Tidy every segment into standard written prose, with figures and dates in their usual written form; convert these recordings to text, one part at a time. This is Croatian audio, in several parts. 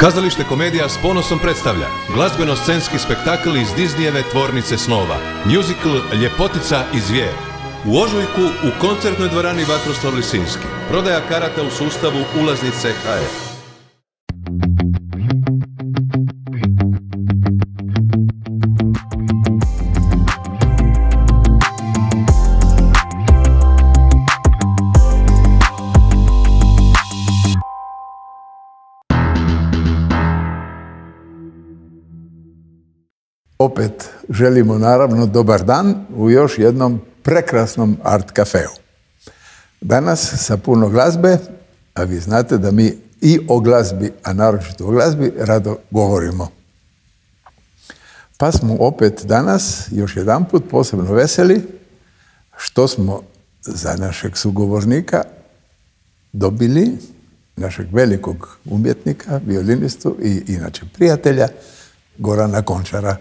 Kazalište Komedija s ponosom predstavlja glazbeno-scenski spektakl iz Disneyjeve tvornice snova, musical Ljepotica i zvijer. U ožujku u koncertnoj dvorani Vatroslav Lisinski. Prodaja karata u sustavu ulaznice HR. Opet želimo naravno dobar dan u još jednom prekrasnom art kafeu. Danas sa puno glazbe, a vi znate da mi i o glazbi, a naročito o glazbi, rado govorimo. Pa smo opet danas, još jedanput, posebno veseli što smo za našeg sugovornika dobili našeg velikog umjetnika, violinistu i inače prijatelja, Gorana Končara.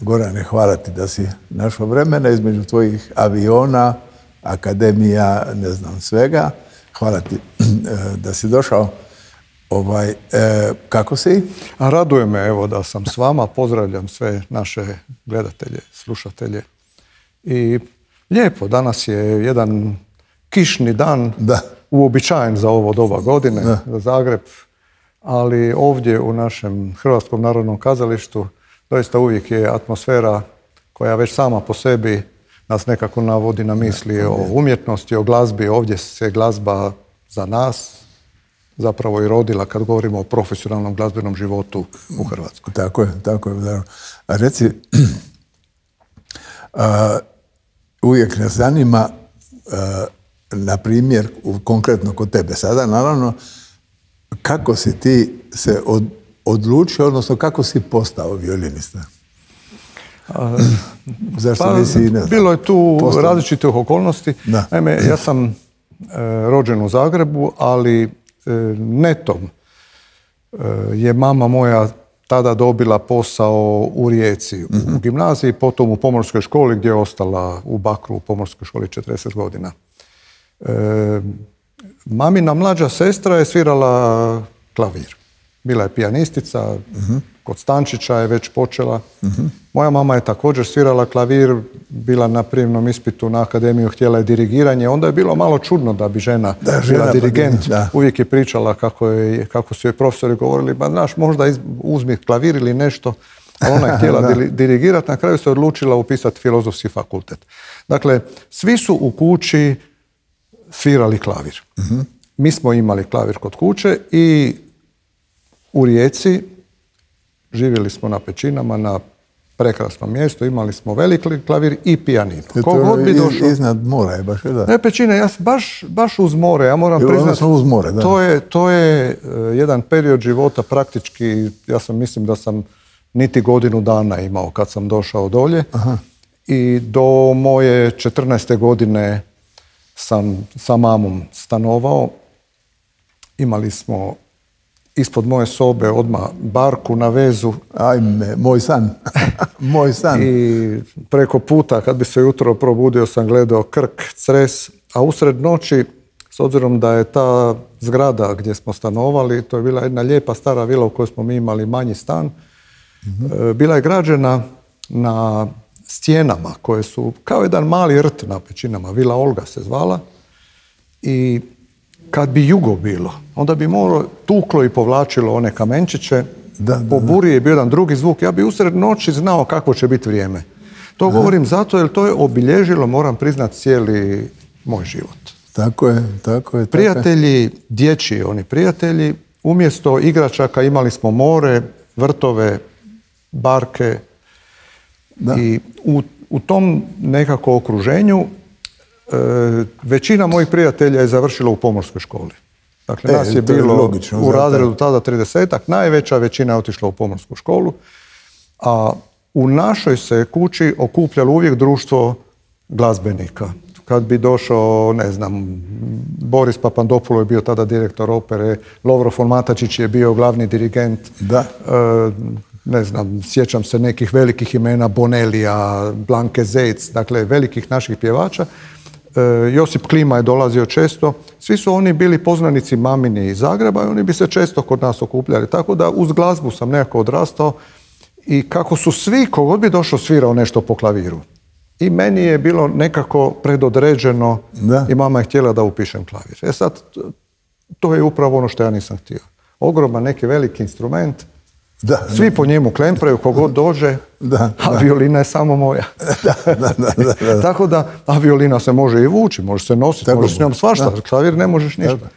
Gorane, hvala ti da si našao vremena između tvojih aviona, akademija, ne znam svega. Hvala ti da si došao. Kako si? Raduje me evo da sam s vama. Pozdravljam sve naše gledatelje, slušatelje. I lijepo, danas je jedan kišni dan, uobičajen za ovo doba godine, za Zagreb, ali ovdje u našem Hrvatskom narodnom kazalištu doista uvijek je atmosfera koja već sama po sebi nas nekako navodi na misli o umjetnosti, o glazbi. Ovdje se glazba za nas zapravo i rodila kad govorimo o profesionalnom glazbenom životu u Hrvatskoj. Tako je, tako je. A reci, uvijek nas zanima, na primjer, konkretno kod tebe sada, naravno, kako si ti se odlučio, odnosno kako si postao violinista? Zašto nisi, ne znam, bilo je tu različitih okolnosti. Naime, ja sam rođen u Zagrebu, ali netom je mama moja tada dobila posao u Rijeci, u gimnaziji, potom u pomorskoj školi gdje je ostala u Bakru u pomorskoj školi 40 godina. Mamina mlađa sestra je svirala klavir. Bila je pijanistica, kod Stančića je već počela. Moja mama je također svirala klavir, bila na prijemnom ispitu na akademiju, htjela je dirigiranje. Onda je bilo malo čudno da bi žena bila dirigent. Uvijek je pričala kako su joj profesori govorili, ba znaš, možda uzmi klavir ili nešto. A ona je htjela dirigirati, na kraju se odlučila upisati filozofski fakultet. Dakle, svi su u kući svirali klavir. Mi smo imali klavir kod kuće i u Rijeci živjeli smo na Pećinama, na prekrasnom mjestu, imali smo veliki klavir i pijaninu. Kogod bi došao... Iznad mora je baš, da? Ne, Pećine, ja baš uz more, ja moram priznati. Uz more, da. To je jedan period života praktički, mislim da sam niti godinu dana imao kad sam došao dolje. I do moje 14. godine sam sa mamom stanovao. Imali smo ispod moje sobe odmah barku na vezu. Ajme, moj san. Moj san. I preko puta, kad bi se jutro probudio, sam gledao Krk, Cres, a usred noći, s obzirom da je ta zgrada gdje smo stanovali, to je bila jedna lijepa stara vila u kojoj smo mi imali manji stan, bila je građena na stjenama koje su kao jedan mali rt na Pećinama. Vila Olga se zvala. I kad bi jugo bilo, onda bi more tuklo i povlačilo one kamenčiće. Po buri je bio jedan drugi zvuk. Ja bi usred noći znao kakvo će biti vrijeme. To govorim zato jer to je obilježilo, moram priznati, cijeli moj život. Tako je, tako je. Prijatelji, dječji oni prijatelji, umjesto igračaka imali smo more, vrtove, barke. I u tom nekako okruženju većina mojih prijatelja je završila u pomorskoj školi. Dakle, nas je bilo u razredu tada 30-ak, najveća većina je otišla u pomorsku školu, a u našoj se kući okupljalo uvijek društvo glazbenika. Kad bi došao, ne znam, Boris Papandopulo je bio tada direktor opere, Lovro Fonmatačić je bio glavni dirigent, ne znam, sjećam se nekih velikih imena, Bonelija, Blanke Zec, dakle velikih naših pjevača. Josip Klima je dolazio često. Svi su oni bili poznanici mamini iz Zagreba i oni bi se često kod nas okupljali. Tako da uz glazbu sam nekako odrastao i kako su svi, kogod bi došao, svirao nešto po klaviru. I meni je bilo nekako predodređeno i mama je htjela da upišem klavir. Sad, to je upravo ono što ja nisam htio. Ogroman neki veliki instrument, svi po njemu klempraju, kogod dođe, a violina je samo moja. Tako da, a violina se može i vući, može se nositi, može s njom svašta, klavir ne možeš ništa.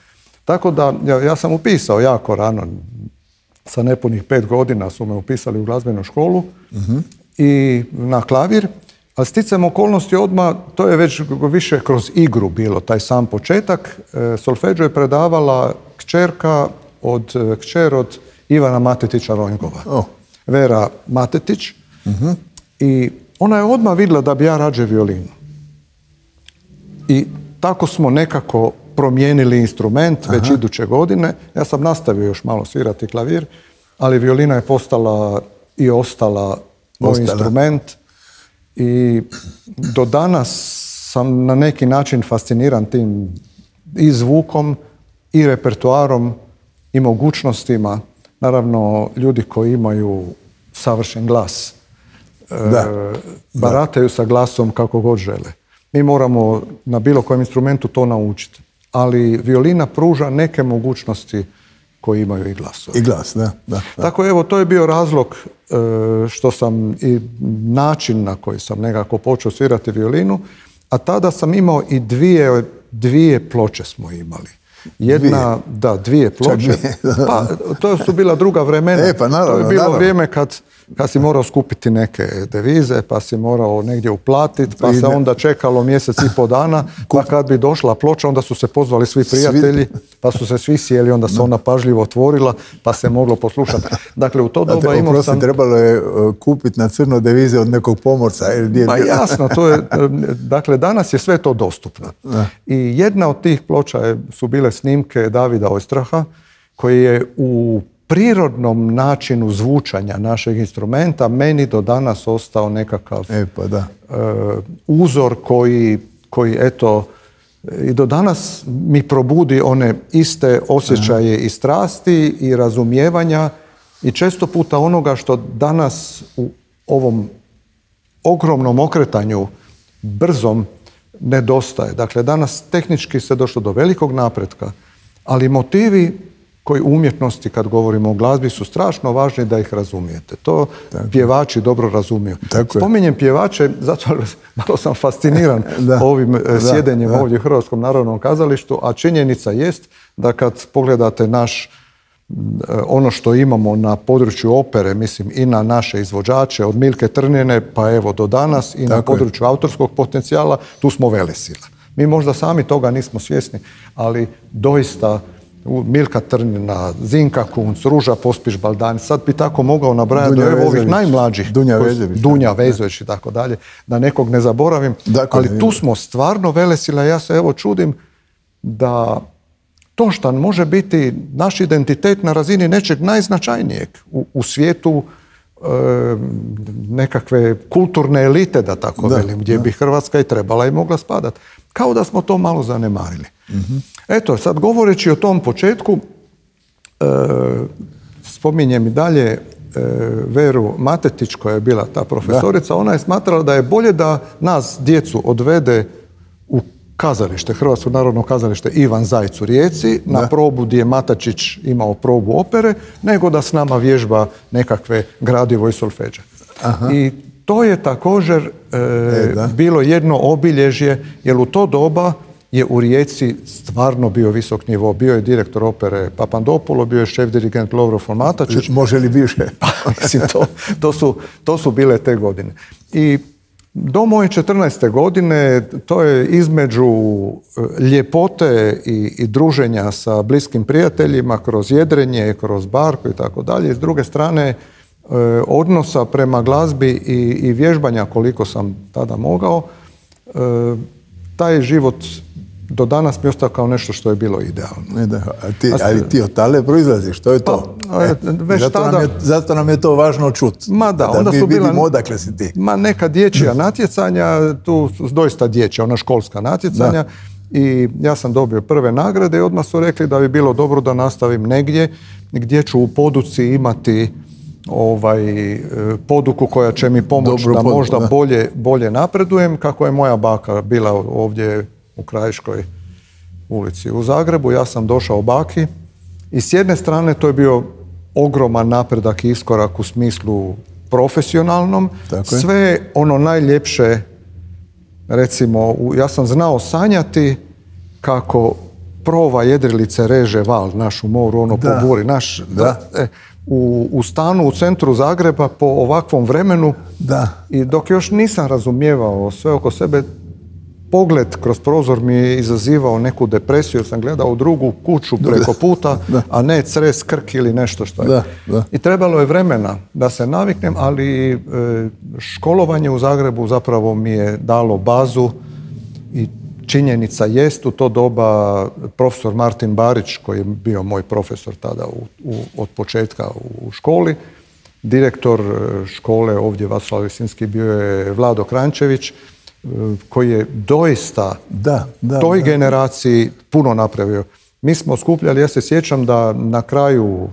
Tako da, ja sam upisao jako rano, sa nepunih 5 godina su me upisali u glazbenu školu i na klavir, ali sticajem okolnosti odmah, to je već više kroz igru bilo, taj sam početak. Solfeđo je predavala kćer od Ivana Matetića Ronjgova, Vera Matetić. I ona je odmah vidjela da bi ja rađe violinu. I tako smo nekako promijenili instrument već iduće godine. Ja sam nastavio još malo svirati klavir, ali violina je postala i ostala moj instrument. I do danas sam na neki način fasciniran tim i zvukom i repertoarom i mogućnostima. Naravno, ljudi koji imaju savršen glas barataju sa glasom kako god žele. Mi moramo na bilo kojem instrumentu to naučiti. Ali violina pruža neke mogućnosti koji imaju i glasovi. I glas, da. Tako evo, to je bio razlog što sam i način na koji sam nekako počeo svirati violinu, a tada sam imao i dvije ploče smo imali. Dvije ploče. Pa, to su bila druga vremena. To je bilo vrijeme kad si morao skupiti neke devize, pa si morao negdje uplatiti, pa se onda čekalo mjesec i pol dana, pa kad bi došla ploča, onda su se pozvali svi prijatelji, pa su se svi sjeli, onda se ona pažljivo otvorila, pa se moglo poslušati. Dakle, u to doba imao sam... Trebalo je kupiti na crno devize od nekog pomorca. Pa jasno, dakle, danas je sve to dostupno. I jedna od tih ploča su bile snimke Davida Ojstraha, koji je u prirodnom načinu zvučanja našeg instrumenta meni do danas ostao nekakav uzor koji eto i do danas mi probudi one iste osjećaje i strasti i razumijevanja i često puta onoga što danas u ovom ogromnom okretanju brzom nedostaje. Dakle, danas tehnički se došlo do velikog napretka, ali motivi koji u umjetnosti, kad govorimo o glazbi, su strašno važni da ih razumijete. To pjevači dobro razumiju. Spominjem pjevače, zato malo sam fasciniran ovim sjedenjem ovdje u Hrvatskom narodnom kazalištu, a činjenica jest da kad pogledate ono što imamo na području opere, mislim i na naše izvođače, od Milke Trnjene pa evo do danas i na području autorskog potencijala, tu smo velesila. Mi možda sami toga nismo svjesni, ali doista Milka Trnjena, Zinka Kunc, Ruža Pospiš-Baldani, sad bi tako mogao nabrajati do ovih najmlađih, Dunja Vezović i tako dalje, da nekog ne zaboravim, ali tu smo stvarno velesila. Ja se evo čudim da to što može biti naš identitet na razini nečeg najznačajnijeg u svijetu nekakve kulturne elite, da tako velim, gdje bi Hrvatska i trebala i mogla spadati. Kao da smo to malo zanemarili. Eto, sad govoreći o tom početku, spominjem i dalje Veru Matetić, koja je bila ta profesorica. Ona je smatrala da je bolje da nas, djecu, odvede u kazalište, Hrvatsko narodno kazalište Ivan Zajc u Rijeci, na probu gdje je Matačić imao probu opere, nego da s nama vježba nekakve gradivo i solfeđe. I to je također bilo jedno obilježje, jer u to doba je u Rijeci stvarno bio visok nivo. Bio je direktor opere Papandopoulos, bio je šef dirigent Lovro von Matačić. Može li više? Mislim, to su bile te godine. I do moje 14. godine, to je između ljepote i druženja sa bliskim prijateljima, kroz jedrenje, kroz barku i tako dalje. S druge strane, odnosa prema glazbi i vježbanja koliko sam tada mogao, taj život do danas mi ostao kao nešto što je bilo idealno. Ali ti od tale proizlaziš, što je to? Zato nam je to važno čuti. Ma da, onda mi su bila vidimo odakle si ti. Neka dječja natjecanja, tu su doista dječja, ona školska natjecanja. I ja sam dobio prve nagrade i odmah su rekli da bi bilo dobro da nastavim negdje gdje ću u poduci imati poduku koja će mi pomoći da možda bolje napredujem, kako je moja baka bila ovdje u Krajiškoj ulici u Zagrebu. Ja sam došao baki i s jedne strane to je bio ogroman napredak i iskorak u smislu profesionalnom. Sve ono najljepše, recimo, ja sam znao sanjati kako prova jedrilice reže val naš u moru, ono po buri. U stanu u centru Zagreba po ovakvom vremenu i dok još nisam razumijevao sve oko sebe, pogled kroz prozor mi je izazivao neku depresiju jer sam gledao u drugu kuću preko puta, a ne Cres, Krk ili nešto što je. I trebalo je vremena da se naviknem, ali školovanje u Zagrebu zapravo mi je dalo bazu i činjenica jest u to doba profesor Martin Barić, koji je bio moj profesor tada od početka u školi, direktor škole ovdje Vatroslav Lisinski bio je Vlado Krančević, koji je doista toj generaciji puno napravio. Mi smo skupljali, ja se sjećam da na kraju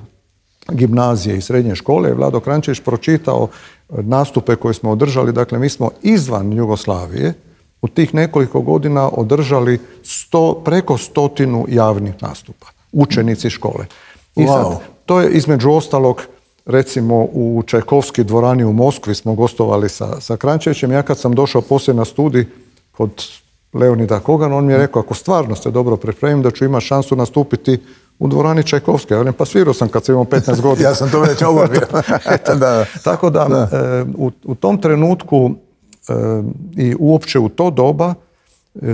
gimnazije i srednje škole je Vlado Krančević pročitao nastupe koje smo održali. Dakle, mi smo izvan Jugoslavije u tih nekoliko godina održali preko 100 javnih nastupa. Učenici škole. I sad, to je između ostalog, recimo u Čajkovski dvorani u Moskvi smo gostovali sa Krančevićem. Ja kad sam došao poslije na studij kod Leonida Kogana, on mi je rekao, ako stvarno se dobro pripremim, da ću imati šansu nastupiti u dvorani Čajkovske. Ja pa svirao sam kad sam imao 15 godina. Ja sam to već obavio. Tako da, u tom trenutku i uopće u to doba,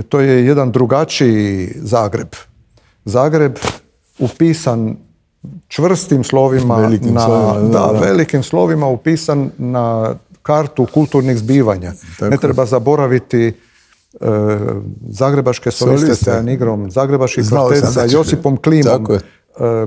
to je jedan drugačiji Zagreb. Zagreb upisan čvrstim slovima, velikim slovima upisan na kartu kulturnih zbivanja. Ne treba zaboraviti zagrebačke soliste sa Jan Igrom, zagrebački kvartet sa Josipom Klimom,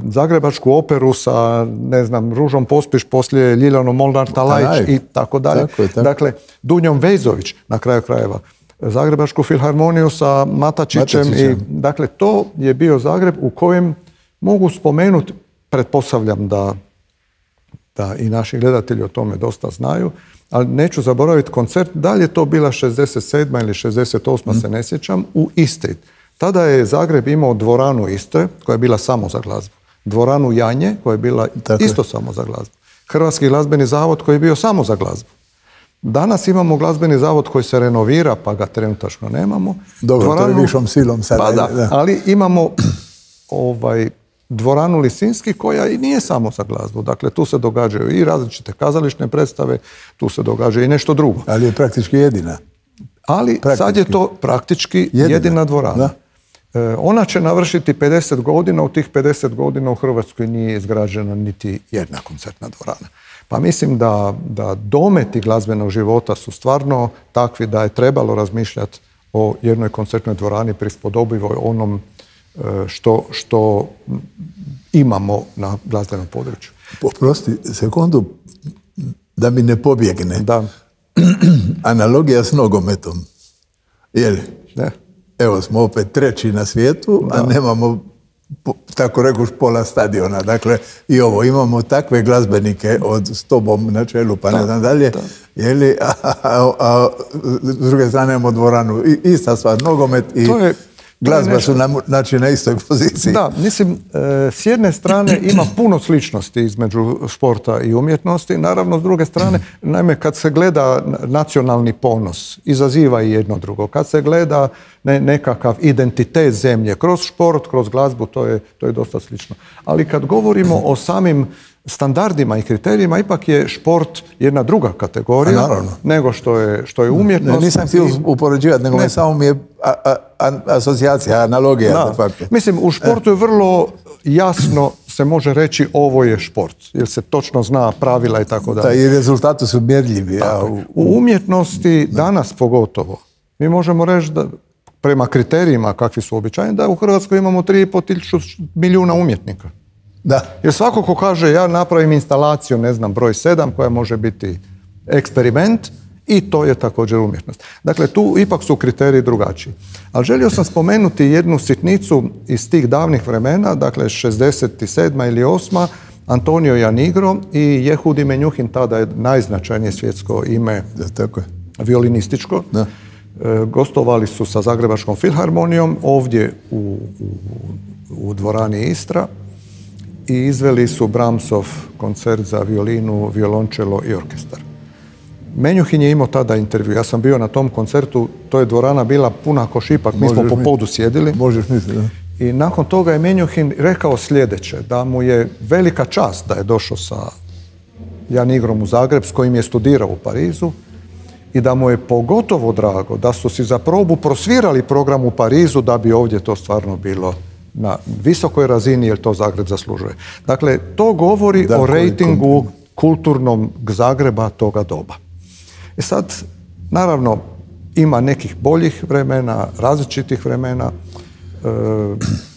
zagrebačku operu sa, ne znam, Ružom Pospiš, poslije Ljiljanom Molnar-Talajić i tako dalje. Dakle, Dunjom Vezović, na kraju krajeva. Zagrebačku filharmoniju sa Matačićem. Dakle, to je bio Zagreb u kojem mogu spomenuti, pretpostavljam da i naši gledatelji o tome dosta znaju, ali neću zaboraviti koncert, da li je to bila 67. ili 68. se ne sjećam, u Istri. Tada je Zagreb imao dvoranu Istre, koja je bila samo za glazbu. Dvoranu Janje, koja je bila isto samo za glazbu. Hrvatski glazbeni zavod, koji je bio samo za glazbu. Danas imamo glazbeni zavod koji se renovira, pa ga trenutačno nemamo. Dobro, to je višom silom sada. Ali imamo dvoranu Lisinski, koja i nije samo za glazbu. Dakle, tu se događaju i različite kazališne predstave, tu se događa i nešto drugo. Ali je praktički jedina. Ali sad je to praktički jedina dvorana. Ona će navršiti 50 godina, u tih 50 godina u Hrvatskoj nije izgrađena niti jedna koncertna dvorana. Pa mislim da dometi glazbenog života su stvarno takvi da je trebalo razmišljati o jednoj koncertnoj dvorani prispodobivoj onom što imamo na glazbenom području. Oprosti sekundu, da mi ne pobjegne. Da. Analogija s nogometom. Jeli? Ne. Evo smo opet treći na svijetu, a nemamo, tako rekuš, pola stadiona. Dakle, i ovo, imamo takve glazbenike s tobom na čelu, pa ne znam dalje. Jeli? A s druge strane imamo dvoranu. Ista stvar, nogomet i glazba su znači na istoj poziciji. Da, mislim, s jedne strane ima puno sličnosti između športa i umjetnosti. Naravno, s druge strane, naime, kad se gleda nacionalni ponos, izaziva i jedno drugo. Kad se gleda nekakav identitet zemlje kroz šport, kroz glazbu, to je dosta slično. Ali kad govorimo o samim standardima i kriterijima, ipak je šport jedna druga kategorija nego što je umjetnost. Nisam htio upoređivati, nego samo mi je asocijacija, analogija. Mislim, u športu je vrlo jasno se može reći ovo je šport, jer se točno zna pravila i tako dalje. I rezultati su mjerljivi. U umjetnosti danas pogotovo mi možemo reći da prema kriterijima kakvi su običajni, da u Hrvatskoj imamo 3,5 milijuna umjetnika. Da. Jer svako ko kaže ja napravim instalaciju, ne znam, broj 7 koja može biti eksperiment i to je također umjetnost. Dakle, tu ipak su kriteriji drugačiji. Ali želio sam spomenuti jednu sitnicu iz tih davnih vremena, dakle 67. ili 8. Antonio Janigro i Jehudi Menjuhin, tada je najznačajnije svjetsko ime violinističko. Da. Gostovali su sa Zagrebačkom filharmonijom ovdje u dvorani Istra i izveli su Brahmsov koncert za violinu, violončelo i orkestar. Menjuhin je imao tada intervju. Ja sam bio na tom koncertu, to je dvorana bila puna ko šipak, mi smo po podu sjedili. Možeš misliti, da. I nakon toga je Menjuhin rekao sljedeće, da mu je velika čast da je došao sa Janigrom u Zagreb, s kojim je studirao u Parizu, i da mu je pogotovo drago da su si za probu prosvirali program u Parizu da bi ovdje to stvarno bilo na visokoj razini, jer to Zagreb zaslužuje. Dakle, to govori o rejtingu kulturnom Zagreba toga doba. I sad, naravno, ima nekih boljih vremena, različitih vremena.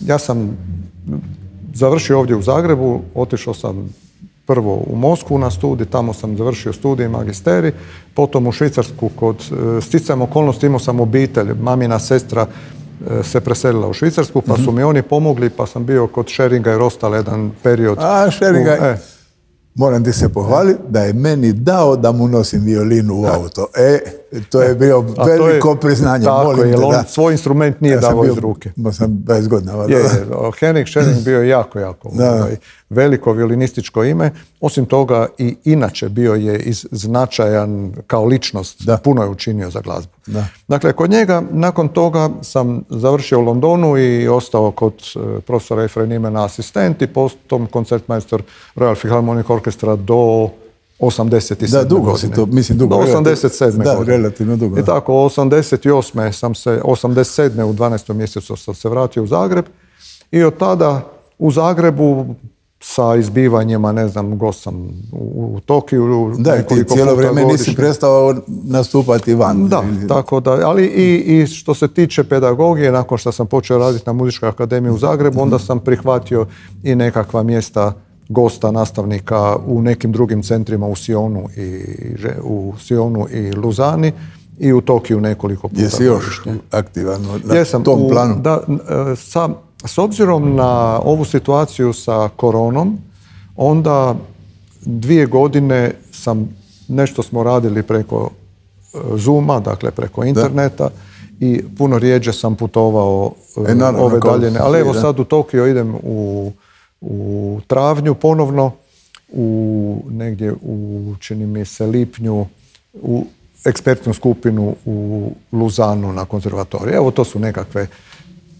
Ja sam završio ovdje u Zagrebu, otišao sam prvo u Moskvu na studij, tamo sam završio studij i magisterij, potom u Švicarsku kod sticajem okolnosti imao sam obitelj, mamina sestra se preselila u Švicarsku, pa su mi oni pomogli, pa sam bio kod Scheringa i Rostal jedan period. Scheringa, moram ti se pohvaliti da je meni dao da mu nosim violinu u auto. To je bio veliko priznanje. Tako je, jer on svoj instrument nije dao iz ruke. Ja sam 20 godina. Henrik Schering bio je jako veliko violinističko ime. Osim toga i inače bio je značajan kao ličnost. Puno je učinio za glazbu. Dakle, kod njega nakon toga sam završio u Londonu i ostao kod profesora Efrenimena asistent i potom koncertmajstor Royal Philharmonic Orchestra do 87. Da, dugo si to, mislim dugo. Do 87. godine. Da, relativno dugo. I tako, 88. 87. u 12. mjesecu sam se vratio u Zagreb i od tada u Zagrebu sa izbivanjima, ne znam, gost sam u Tokiju. Da, ti cijelo vrijeme nisi prestao nastupati van. Da, tako da, ali i što se tiče pedagogije, nakon što sam počeo raditi na Muzičkoj akademiji u Zagrebu, onda sam prihvatio i nekakva mjesta gosta, nastavnika u nekim drugim centrima u Sionu i Luzani i u Tokiju nekoliko puta. Jesi još aktivan na tom planu? Da, s obzirom na ovu situaciju sa koronom, onda 2 godine nešto smo radili preko Zooma, dakle preko interneta, i puno rijeđe sam putovao ove daljine. Ali evo sad u Tokio idem u travnju ponovno, negdje čini mi se lipnju, u ekspertnu skupinu u Luzanu na konzervatoriju. Evo, to su nekakve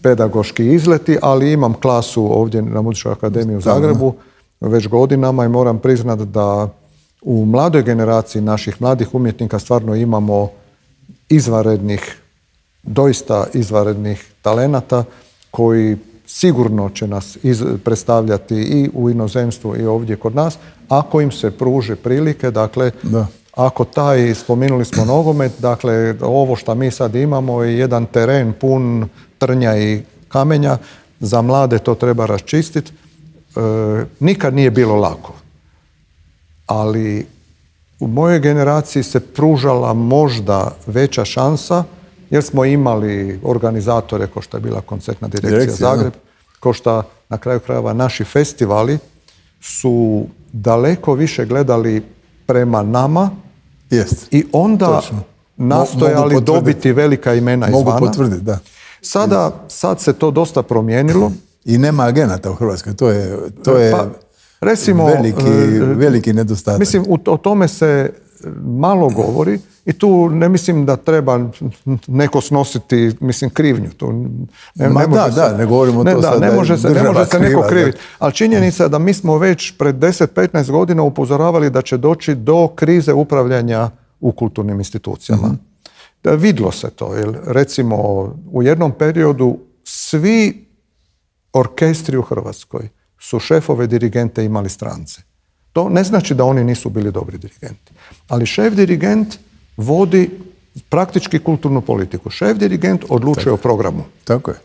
pedagoški izleti, ali imam klasu ovdje na Muzičkoj akademiji u Zagrebu već godinama i moram priznati da u mladoj generaciji naših mladih umjetnika stvarno imamo doista izvanrednih talenata koji sigurno će nas predstavljati i u inozemstvu i ovdje kod nas, ako im se pruže prilike, dakle, ako spomenuli smo nogomet, dakle, ovo što mi sad imamo je jedan teren pun trnja i kamenja, za mlade to treba raščistiti. Nikad nije bilo lako, ali u mojoj generaciji se pružala možda veća šansa, jer smo imali organizatore, kao što je bila koncertna direkcija Zagreb, kao što na kraju krajeva naši festivali su daleko više gledali prema nama i onda nastojali dobiti velika imena izvana. Mogu potvrditi, da. Sad se to dosta promijenilo. I nema agenata u Hrvatskoj, to je recimo, veliki nedostatak. Mislim, o tome se malo govori i tu ne mislim da treba neko snositi, krivnju. Ne govorimo to sad. Ne može se neko kriviti. Ali činjenica je da mi smo već pred 10-15 godina upozoravali da će doći do krize upravljanja u kulturnim institucijama. Vidlo se to. Jer, recimo, u jednom periodu svi orkestri u Hrvatskoj su šefove dirigente imali strance. To ne znači da oni nisu bili dobri dirigenti. Ali šef dirigent vodi praktički kulturnu politiku. Šef dirigent odlučuje o programu. Tako je.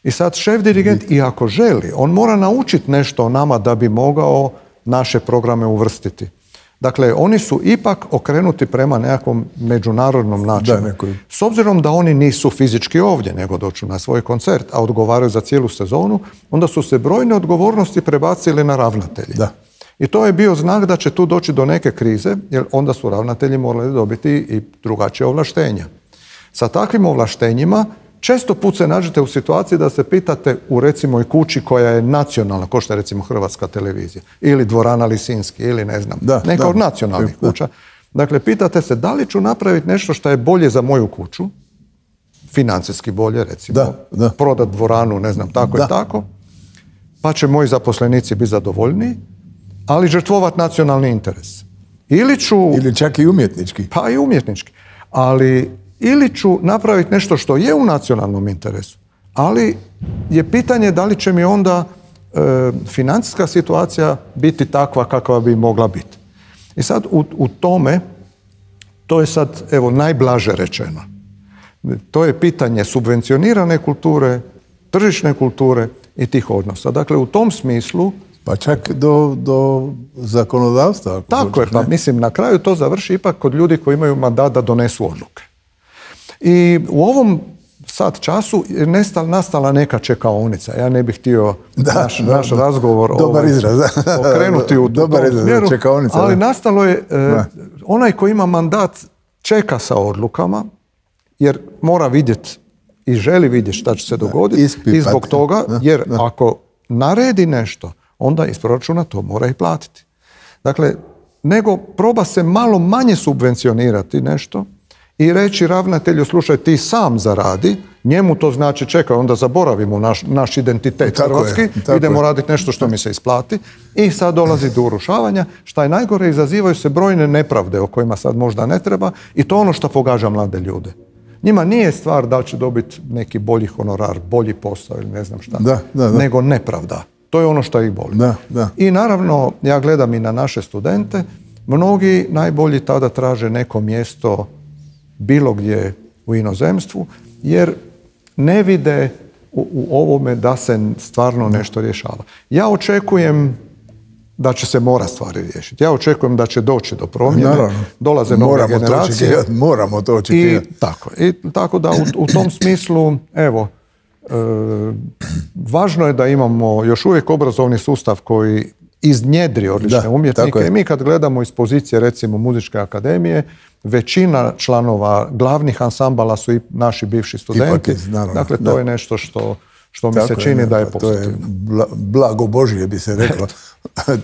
I sad šef dirigent, i ako želi, on mora naučiti nešto o nama da bi mogao naše programe uvrstiti. Dakle, oni su ipak okrenuti prema nekakvom međunarodnom načinu. S obzirom da oni nisu fizički ovdje, nego dođu na svoj koncert, a odgovaraju za cijelu sezonu, onda su se brojne odgovornosti prebacili na ravnatelji. Da. I to je bio znak da će tu doći do neke krize, jer onda su ravnatelji morali dobiti i drugačije ovlaštenja. Sa takvim ovlaštenjima često put se nađete u situaciji da se pitate u recimo i kući koja je nacionalna, kao što je recimo Hrvatska televizija, ili Dvorana Lisinski, ili ne znam, neka od nacionalnih kuća. Dakle, pitate se da li ću napraviti nešto što je bolje za moju kuću, financijski bolje recimo, prodat dvoranu, ne znam, tako i tako, pa će moji zaposlenici biti zadovoljniji, ali žrtvovat nacionalni interes. Ili čak i umjetnički. Pa i umjetnički. Ili ću napraviti nešto što je u nacionalnom interesu, ali je pitanje da li će mi onda financijska situacija biti takva kakva bi mogla biti. I sad u tome, to je sad evo najblaže rečeno. To je pitanje subvencionirane kulture, tržišne kulture i tih odnosa. Dakle, u tom smislu pa čak do zakonodavstva. Tako je, pa mislim na kraju to završi ipak kod ljudi koji imaju mandat da donesu odluke. I u ovom sad času je nastala neka čekaonica. Ja ne bih htio naš razgovor okrenuti u tom smjeru, ali nastalo je onaj koji ima mandat čeka sa odlukama, jer mora vidjeti i želi vidjeti šta će se dogoditi i zbog toga, jer ako naredi nešto, onda iz proračuna to mora i platiti. Dakle, nego proba se malo manje subvencionirati nešto i reći ravnatelju, slušaj, ti sam zaradi, njemu to znači čekaj, onda zaboravimo naš identitet hrvatski, idemo raditi nešto što mi se isplati i sad dolazi do urušavanja. Šta je najgore, izazivaju se brojne nepravde o kojima sad možda ne treba i to ono što pogađa mlade ljude. Njima nije stvar da će dobiti neki bolji honorar, bolji posao ili ne znam šta, nego nepravda. To je ono što ih boli. I naravno, ja gledam i na naše studente, mnogi najbolji tada traže neko mjesto bilo gdje u inozemstvu, jer ne vide u ovome da se stvarno nešto rješava. Ja očekujem da će se mora stvari riješiti. Ja očekujem da će doći do promjene, dolaze nove generacije. Moramo to očekivati. I tako da u tom smislu, evo, važno je da imamo još uvijek obrazovni sustav koji iznjedri odlične umjetnike. I mi kad gledamo iz pozicije recimo Muzičke akademije, većina članova glavnih ansambala su i naši bivši studenti. Dakle, to je nešto što mi se čini da je pozitivno. To je blago Božje, bi se reklo.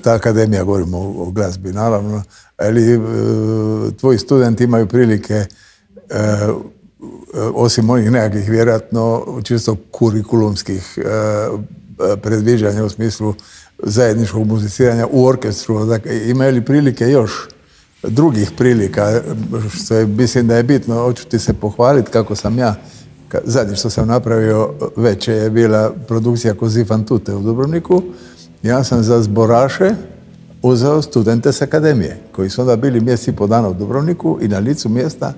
Ta akademija, govorimo o glazbi, naravno. Ali tvoji studenti imaju prilike, osim onih nekakvih, vjerojatno, čisto kurikulumskih predviđanja u smislu zajedničkog muziciranja u orkestru. Dakle, imaju li prilike još drugih prilika, što je, mislim da je bitno, hoću ti se pohvaliti kako sam ja, zadnje što sam napravio već je bila produkcija Così fan tutte u Dubrovniku. Ja sam za zboraše uzeo studente s akademije, koji su onda bili mjesec i pol dana u Dubrovniku i na licu mjesta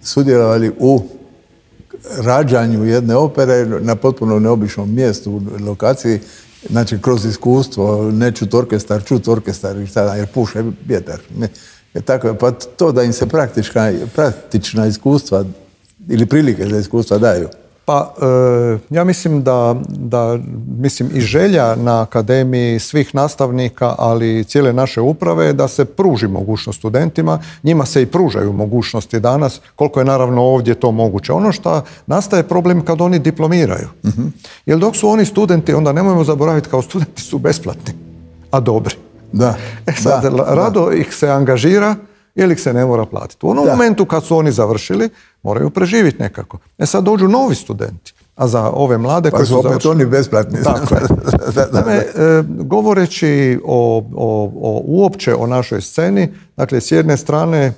sudjelovali u rađanju jedne opere na potpuno neobičnom mjestu, lokaciji, znači kroz iskustvo, ne čut orkestar, čut orkestar i šta, jer puše vjetar. Tako, pa to da im se praktična iskustva ili prilike za iskustva daju. Pa ja mislim da i želja na akademiji svih nastavnika, ali i cijele naše uprave, da se pruži mogućnost studentima. Njima se i pružaju mogućnosti danas, koliko je naravno ovdje to moguće. Ono što nastaje problem kad oni diplomiraju. Jer dok su oni studenti, onda nemojmo zaboraviti, kao studenti su besplatni, a dobri. Rado ih se angažira ili ih se ne mora platiti. U onom momentu kad su oni završili, moraju preživjeti nekako. Sad dođu novi studenti, a za ove mlade koji su opet oni besplatni. Tako je. Govoreći uopće o našoj sceni, dakle, s jedne strane,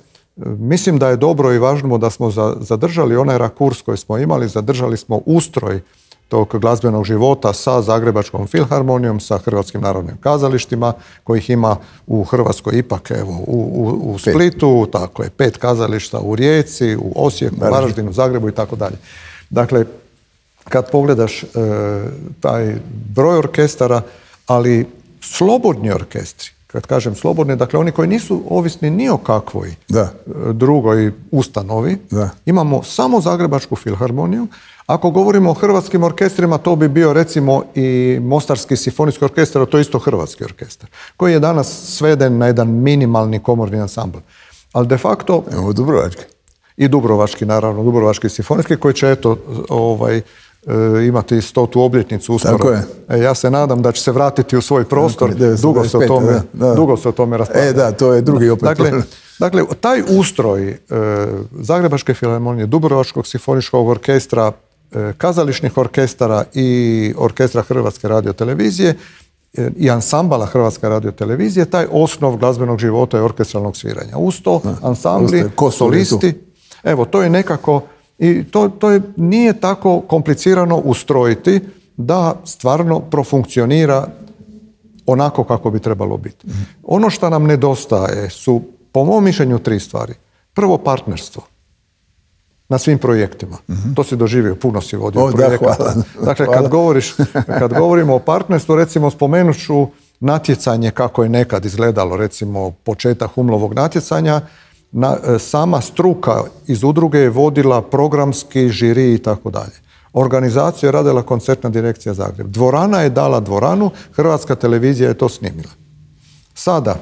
mislim da je dobro i važno da smo zadržali onaj rakurs koji smo imali, zadržali smo ustroj tog glazbenog života sa Zagrebačkom filharmonijom, sa Hrvatskim narodnim kazalištima, kojih ima u Hrvatskoj ipak, evo, u Splitu, tako je, 5 kazališta u Rijeci, u Osijeku, Varaždinu, Zagrebu i tako dalje. Dakle, kad pogledaš taj broj orkestara, ali slobodni orkestri, kad kažem slobodni, dakle oni koji nisu ovisni ni o kakvoj drugoj ustanovi, imamo samo Zagrebačku filharmoniju. Ako govorimo o hrvatskim orkestrima, to bi bio recimo i Mostarski simfonijski orkestar, a to je isto hrvatski orkestar, koji je danas sveden na jedan minimalni komorni ansambl. Ali de facto... Evo Dubrovački. I Dubrovački, naravno, Dubrovački simfonijski, koji će, eto, imati 100. obljetnicu uskoro. Tako je. Ja se nadam da će se vratiti u svoj prostor. Dugo se o tome raspravlja. Da, to je drugi opet. Dakle, taj ustroj Zagrebačke filharmonije, Dubrovačkog simfoničkog orkestra, kazališnih orkestara i orkestra Hrvatske radiotelevizije i ansambala Hrvatske radiotelevizije, taj osnov glazbenog života i orkestralnog sviranja. Uz to ansambli, solisti, evo, to je nekako, i to nije tako komplicirano ustrojiti da stvarno profunkcionira onako kako bi trebalo biti. Ono što nam nedostaje su, po mom mišljenju, 3 stvari. Prvo, partnerstvo na svim projektima. To si doživio, puno si vodio projekata. Dakle, kad govorimo o partnerstvu, recimo spomenut ću natjecanje kako je nekad izgledalo, recimo početak Humlovog natjecanja, sama struka iz udruge je vodila programski, žiri i tako dalje. Organizaciju je radila koncertna direkcija Zagreb. Dvorana je dala dvoranu, Hrvatska televizija je to snimila. Sada,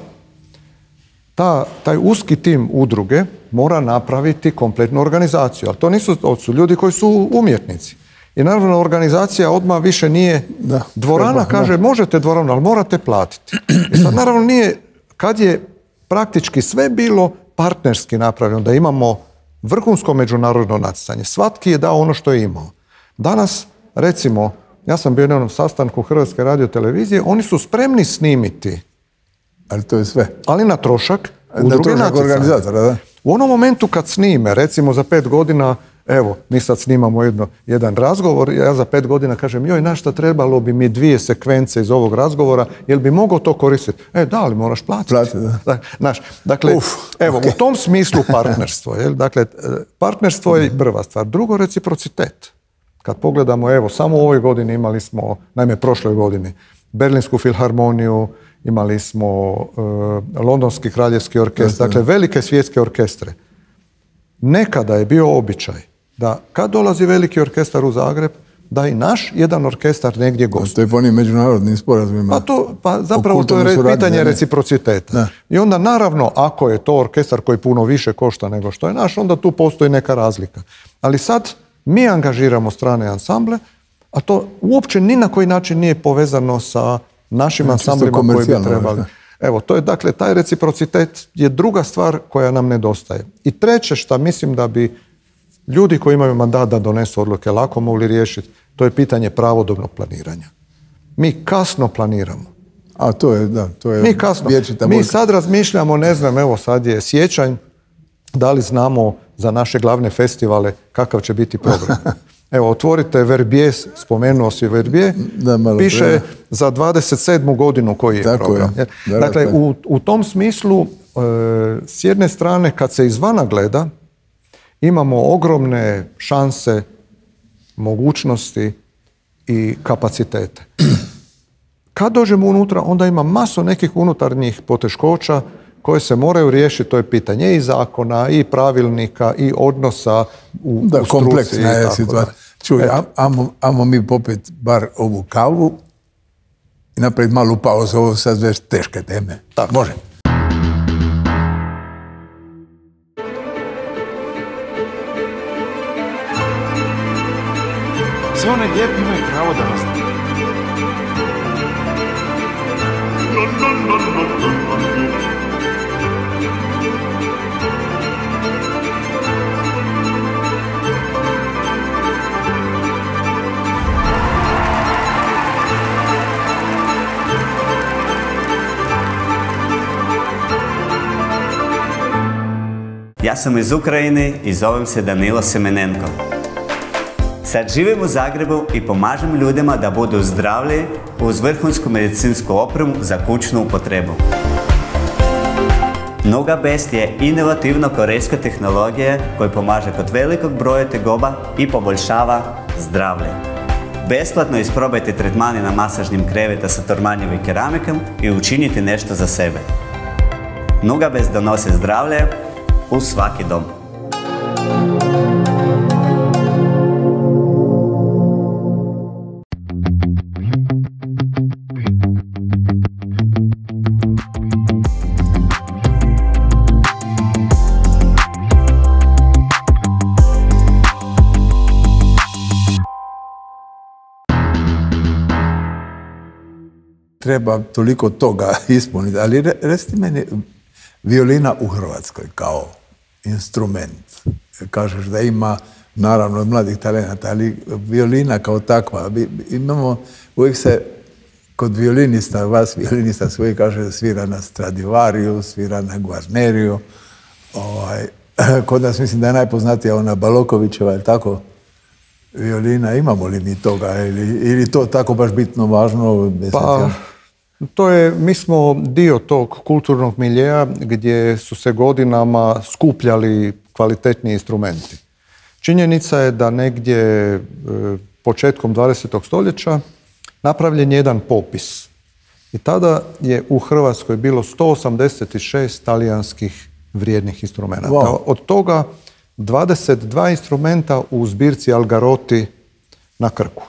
taj uski tim udruge mora napraviti kompletnu organizaciju, ali to su ljudi koji su umjetnici. I naravno organizacija odmah više nije dvorana, kaže možete dvoranu, ali morate platiti. I sad naravno nije, kad je praktički sve bilo partnerski napravljeno, da imamo vrhunsko međunarodno natjecanje. Svatki je dao ono što je imao. Danas, recimo, ja sam bio na jednom sastanku Hrvatske radiotelevizije, oni su spremni snimiti. Ali to je sve. Ali na trošak udruge organizatora, da. U onom momentu kad snime, recimo za 5 godina, evo, mi sad snimamo jedan razgovor, ja za 5 godina kažem, joj, na šta trebalo bi mi 2 sekvence iz ovog razgovora, jel bi mogao to koristiti? Da, ali moraš platiti. Dakle, evo, u tom smislu partnerstvo. Dakle, partnerstvo je prva stvar. Drugo, reciprocitet. Kad pogledamo, evo, samo u ovoj godini imali smo, naime, prošloj godini, Berlinsku filharmoniju, imali smo Londonski kraljevski orkestar, dakle, velike svjetske orkestre. Nekada je bio običaj da kad dolazi veliki orkestar u Zagreb, da i naš jedan orkestar negdje gostuje. To je po onim međunarodnim sporazumima. Pa zapravo to je pitanje reciprociteta. I onda naravno, ako je to orkestar koji puno više košta nego što je naš, onda tu postoji neka razlika. Ali sad mi angažiramo strane ansamble, a to uopće ni na koji način nije povezano sa našim ansamblima koji bi trebali. Evo, to je, dakle, taj reciprocitet je druga stvar koja nam nedostaje. I treće što mislim da bi ljudi koji imaju mandat da donesu odluke lako mogli riješiti, to je pitanje pravodobnog planiranja. Mi kasno planiramo. A to je, da, to je mi kasno. Mi sad razmišljamo, ne znam, evo sad je siječanj, da li znamo za naše glavne festivale kakav će biti program. Evo, otvorite Verbier, spomenuo si Verbier, piše za 27. godinu koji je program. Dakle, u tom smislu, s jedne strane, kad se izvana gleda, imamo ogromne šanse, mogućnosti i kapacitete. Kad dođemo unutra, onda ima masu nekih unutarnjih poteškoća koje se moraju riješiti, to je pitanje i zakona, i pravilnika, i odnosa u struci. Kompleksna je situacija. Čuj, ajmo mi popet bar ovu kavu i napraviti malu pauzu, ovo sad već teške teme. Tako. Može. Sve one lijepi imaju pravo da nas znaju. Ja sam iz Ukrajine i zovem se Danilo Semenenko. Sad živim u Zagrebu i pomažem ljudima da budu zdravlji uz vrhunsku medicinsku opremu za kućnu upotrebu. Nugabest je inovativno korejska tehnologija koja pomaže kod velikog broja tegoba i poboljšava zdravlje. Besplatno isprobajte tretmane na masažnim kreveta sa tormanjem i keramikom i učinite nešto za sebe. Nugabest donosi zdravlje u svaki dom. Treba toliko toga ispuniti, ali recite meni, violina u Hrvatskoj kao instrument. Kažeš da ima, naravno, od mladih talenata, ali violina kao takva. Imamo, uvijek se kod violinista, vas violinista svoji kaže svira na Stradivariju, svira na Guarneriju. Kod nas mislim da je najpoznatija ona Balokovićeva, je li tako? Violina, imamo li mi toga ili to tako baš bitno važno? Pa, mi smo dio tog kulturnog miljeja gdje su se godinama skupljali kvalitetni instrumenti. Činjenica je da negdje početkom 20. stoljeća napravljen jedan popis. I tada je u Hrvatskoj bilo 186 talijanskih vrijednih instrumenta. Wow. Od toga 22 instrumenta u zbirci Algarotti na Krku.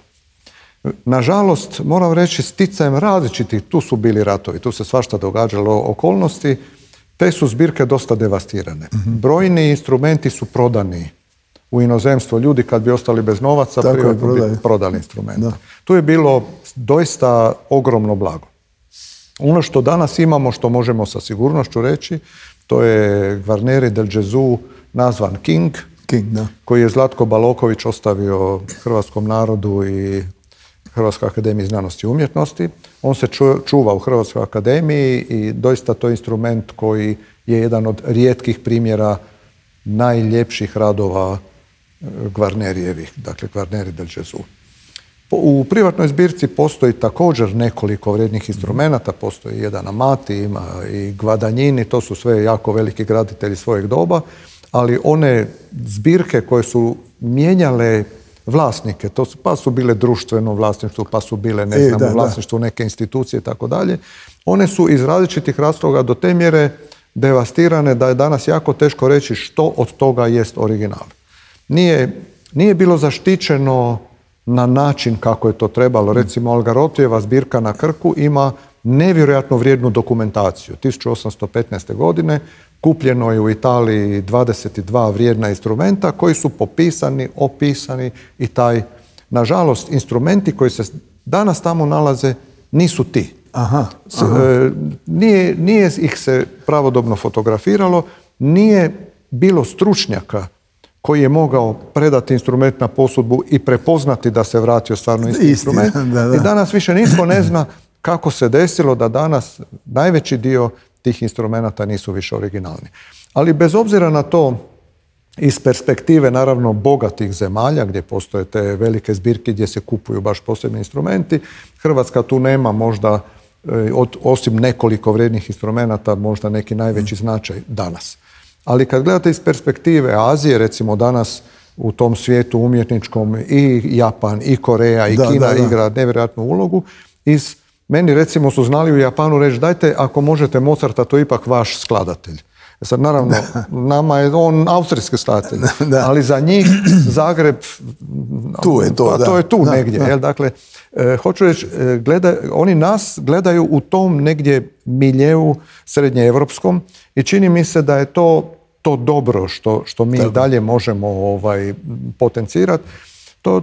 Nažalost, moram reći, sticajem različitih, tu su bili ratovi, tu se svašta događalo okolnosti, te su zbirke dosta devastirane. Brojni instrumenti su prodani u inozemstvo. Ljudi kad bi ostali bez novaca, privatno bi prodali instrumenta. Tu je bilo doista ogromno blago. Ono što danas imamo, što možemo sa sigurnošću reći, to je Guarneri del Gesù, nazvan King, koji je Zlatko Baloković ostavio hrvatskom narodu i Hrvatskoj akademiji znanosti i umjetnosti. On se čuva u Hrvatskoj akademiji i doista to je instrument koji je jedan od rijetkih primjera najljepših radova Guarnerijevih, dakle Guarneri del Gesù. U privatnoj zbirci postoji također nekoliko vrijednih instrumenata, postoji jedan Amati, ima i Guadagnini, to su sve jako veliki graditelji svojeg doba, ali one zbirke koje su mijenjale vlasnike, pa su bile društveno vlasništvo, pa su bile, ne znam, vlasništvo neke institucije i tako dalje, one su iz različitih razloga do te mjere devastirane da je danas jako teško reći što od toga jest original. Nije bilo zaštićeno na način kako je to trebalo. Recimo, Algarottijeva zbirka na Krku ima nevjerojatno vrijednu dokumentaciju. 1815. godine kupljeno je u Italiji 22 vrijedna instrumenta koji su popisani, opisani i taj, nažalost, instrumenti koji se danas tamo nalaze nisu ti. Nije ih se pravodobno fotografiralo, nije bilo stručnjaka koji je mogao predati instrument na posudbu i prepoznati da se vratio stvarno isti instrument. I danas više nitko ne zna kako se desilo da danas najveći dio tih instrumenata nisu više originalni. Ali bez obzira na to, iz perspektive naravno bogatih zemalja gdje postoje te velike zbirke gdje se kupuju baš posebni instrumenti, Hrvatska tu nema možda, osim nekoliko vrijednih instrumenata, možda neki najveći značaj danas. Ali kad gledate iz perspektive Azije, recimo danas u tom svijetu umjetničkom i Japan, i Koreja, i Kina igra nevjerojatnu ulogu. Meni recimo su znali u Japanu reći, dajte ako možete Mozarta, to je ipak vaš skladatelj. Sad naravno, nama je on austrijski skladatelj, ali za njih Zagreb, to je tu negdje. Jel? Dakle, hoću reći, oni nas gledaju u tom negdje miljeu srednjeevropskom i čini mi se da je to dobro što mi dalje možemo potencirati.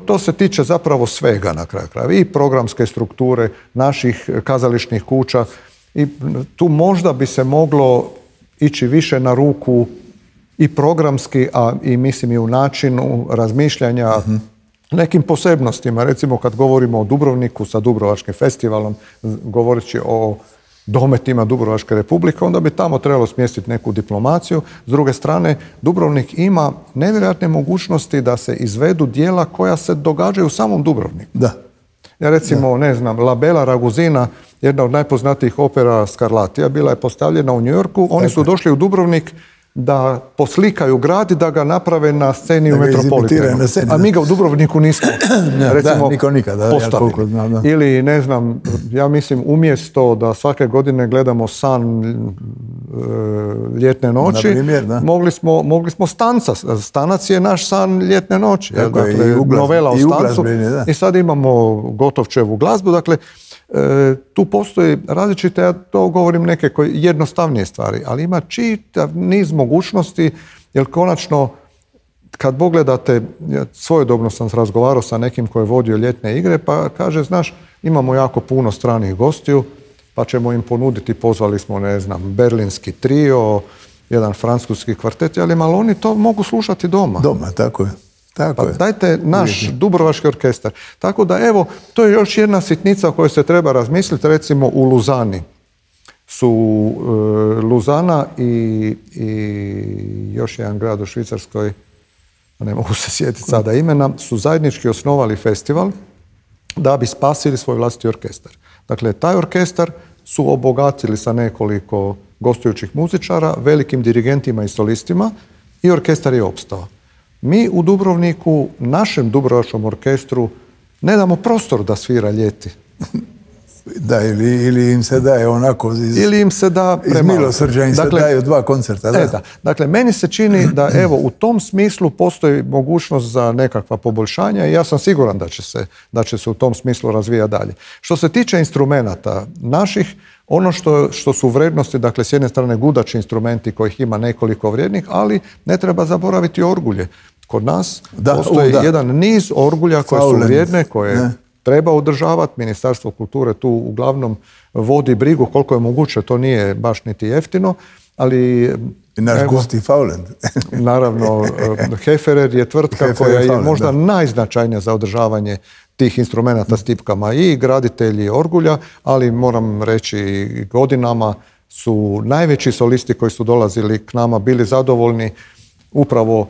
To se tiče zapravo svega na kraju krajeva. I programske strukture naših kazališnih kuća. I tu možda bi se moglo ići više na ruku i programski, a i mislim i u načinu razmišljanja nekim posebnostima. Recimo kad govorimo o Dubrovniku sa Dubrovačkim festivalom, govoreći o dometima Dubrovačke republike, onda bi tamo trebalo smjestiti neku diplomaciju. S druge strane, Dubrovnik ima nevjerojatne mogućnosti da se izvedu djela koja se događaju u samom Dubrovniku. Da. Ja recimo, ne znam, La Bella Ragusina, jedna od najpoznatijih opera Scarlattija, bila je postavljena u New Yorku. Oni su došli u Dubrovnik da poslikaju grad i da ga naprave na sceni u Metropolitanu. A mi ga u Dubrovniku nismo recimo niko nikada postavili. Ili, ne znam, ja mislim, umjesto da svake godine gledamo San ljetne noći, primjer, mogli smo Stanca. Stanac je naš San ljetne noći. Dakle, novela o Stancu. I sad imamo Gotovčevu glazbu. Dakle, tu postoji različite, ja to govorim neke jednostavnije stvari, ali ima čitav niz mogućnosti, jer konačno kad pogledate, svojedobno sam razgovarao sa nekim koji je vodio ljetne igre, pa kaže, znaš, imamo jako puno stranih gostiju, pa ćemo im ponuditi, pozvali smo, ne znam, berlinski trio, jedan francuski kvartet, ali oni to mogu slušati doma. Doma, tako je. Pa dajte naš Dubrovački orkestar. Tako da, evo, to je još jedna sitnica o kojoj se treba razmisliti. Recimo u Luzani su Luzana i još jedan grad u Švicarskoj, ne mogu se sjetiti sada imena, su zajednički osnovali festival da bi spasili svoj vlastiti orkestar. Dakle, taj orkestar su obogatili sa nekoliko gostujućih muzičara, velikim dirigentima i solistima i orkestar je opstao. Mi u Dubrovniku, našem Dubrovačkom orkestru, ne damo prostor da svira ljeti. Da, ili im se daje onako ili im se da iz milosrđa im se daju 2 koncerta. Da. Dakle, meni se čini da evo u tom smislu postoji mogućnost za nekakva poboljšanja i ja sam siguran da će se u tom smislu razvijati dalje. Što se tiče instrumenata naših, ono što su vrednosti, dakle, s jedne strane gudači instrumenti kojih ima nekoliko vrijednih, ali ne treba zaboraviti orgulje. Kod nas postoji jedan niz orgulja koje su vrijedne, koje treba održavati. Ministarstvo kulture tu uglavnom vodi brigu koliko je moguće, to nije baš niti jeftino, ali... I naš Gusti Fauland. Naravno, Heferer je tvrtka koja je možda najznačajnija za održavanje tih instrumenata s tipkama i graditelji orgulja, ali moram reći godinama su najveći solisti koji su dolazili k nama bili zadovoljni upravo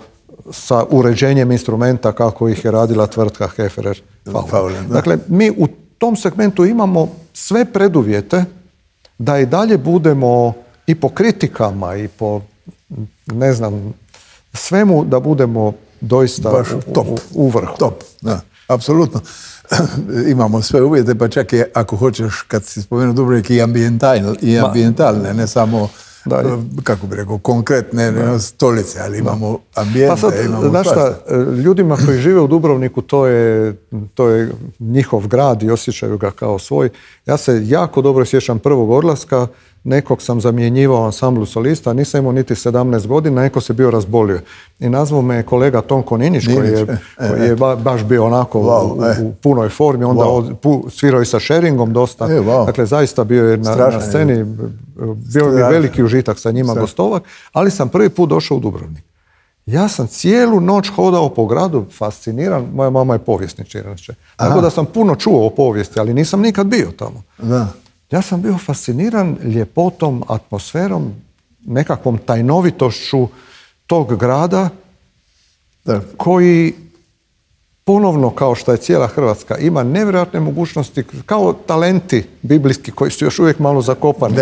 sa uređenjem instrumenta kako ih je radila tvrtka Heferer Fauland. Dakle, mi u tom segmentu imamo sve preduvjete da i dalje budemo i po kritikama i po, ne znam, svemu da budemo doista u vrhu. Top, da, apsolutno. Imamo sve uvjete, pa čak i ako hoćeš, kad si spomenuo Dubrovnik, i ambijentalne, ne samo, kako bi rekao, konkretne stolice, ali imamo ambijente. Pa sad, znaš šta, ljudima koji žive u Dubrovniku, to je njihov grad i osjećaju ga kao svoj. Ja se jako dobro sjećam prvog odlaska, nekog sam zamjenjivao ansamblu solista, nisam imao niti 17 godina, neko se bio razbolio. I nazvao me kolega Tonko Ninić, koji je baš bio onako u punoj formi, onda svirao i sa Sheringom dosta. Dakle, zaista bio je na sceni, bio je veliki užitak sa njima gostovak, ali sam prvi put došao u Dubrovnik. Ja sam cijelu noć hodao po gradu, fasciniran, moja mama je povjesničar. Tako da sam puno čuo o povijesti, ali nisam nikad bio tamo. Da. Ja sam bio fasciniran ljepotom, atmosferom, nekakvom tajnovitošću tog grada koji ponovno, kao što je cijela Hrvatska, ima nevjerojatne mogućnosti, kao talenti biblijski koji su još uvijek malo zakopani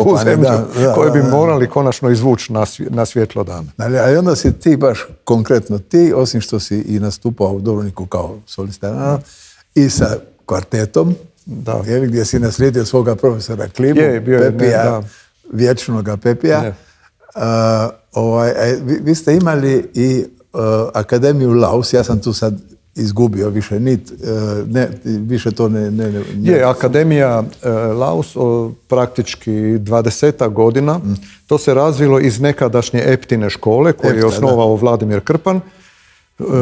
u zemlju, koje bi morali konačno izvući na svjetlo dana. Ali onda si ti baš konkretno ti, osim što si i nastupao u Dubrovniku kao solista, i sa kvartetom, gdje si naslijedio svoga profesora Klimu, Pepija, vječnoga Pepija. Vi ste imali i Akademiju Laus, ja sam tu sad izgubio više više to ne... Je, Akademija Laus praktički 20 godina, to se razvilo iz nekadašnje Eptine škole koju je osnovao Vladimir Krpan.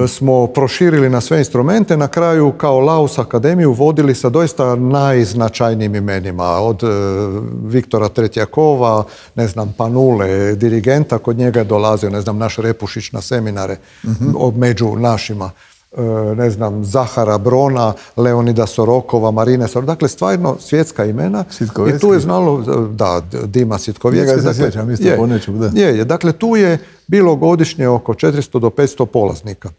Smo proširili na sve instrumente, na kraju kao Laus Akademiju vodili sa doista najznačajnijim imenima, od Viktora Tretjakova, ne znam, Panule, dirigenta, kod njega je dolazio, ne znam, naš Repušić na seminare među našima. ne znam, Zahara Brona, Leonida Sorokova, Marine Sorokova, dakle stvarno svjetska imena. I tu je znalo, da, Dima Sitkovjetski. Njega se sjećam isto po nečemu, da. Dakle, tu je bilo godišnje oko 400 do 500 polaznika.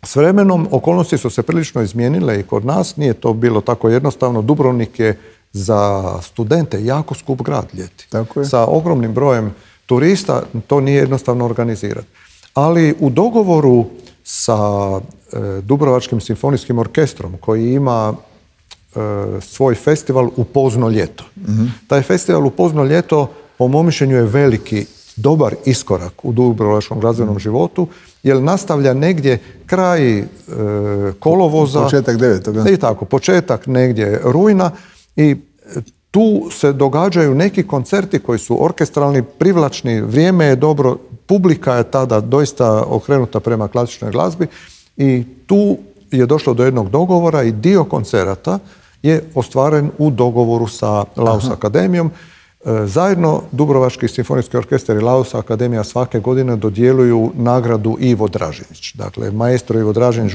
S vremenom okolnosti su se prilično izmijenile i kod nas, nije to bilo tako jednostavno. Dubrovnik je za studente jako skup grad ljeti. Tako je. Sa ogromnim brojem turista to nije jednostavno organizirati. Ali u dogovoru sa Dubrovačkim simfonijskim orkestrom koji ima svoj festival u pozno ljeto. Taj festival u pozno ljeto po mom mišljenju je veliki, dobar iskorak u dubrovačkom glazbenom životu, jer nastavlja negdje kraj kolovoza. Početak 9. I tako, početak negdje rujna i tu se događaju neki koncerti koji su orkestralni, privlačni, vrijeme je dobro, publika je tada doista okrenuta prema klasičnoj glazbi i tu je došlo do jednog dogovora i dio koncerata je ostvaren u dogovoru sa Laus Akademijom. Zajedno Dubrovački simfonijski orkestar i Laus Akademija svake godine dodjeljuju nagradu Ivo Dražinić. Dakle, maestro Ivo Dražinić